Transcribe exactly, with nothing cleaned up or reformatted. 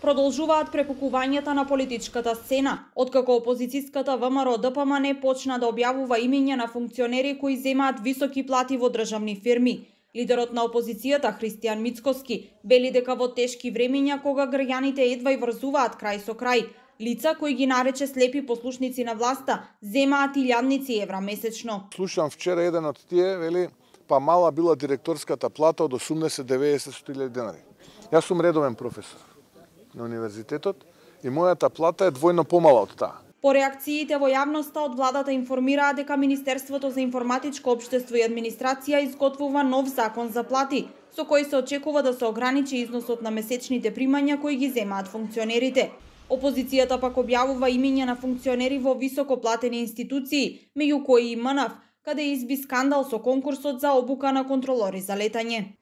Продолжуваат препукувањата на политичката сцена, откако опозицијската ВМРО Д П М Н почна да објавува имиња на функционери кои земаат високи плати во државни фирми. Лидерот на опозицијата Христијан Мицкоски вели дека во тешки времиња кога граѓаните едва и врзуваат крај со крај, лица кои ги нарече слепи послушници на власта земаат илјадници евра месечно. Слушам вчера еден од тие вели па мала била директорската плата од осумдесет до деветдесет илјади денари. Јас сум редовен професор на универзитетот и мојата плата е двојно помала од таа. По реакциите во јавноста од владата информираа дека Министерството за информатичко општество и администрација изготвува нов закон за плати, со кој се очекува да се ограничи износот на месечните примања кои ги земаат функционерите. Опозицијата пак објавува имиња на функционери во високо платени институции, меѓу кои и М Н Ф, каде изби скандал со конкурсот за обука на контролори за летање.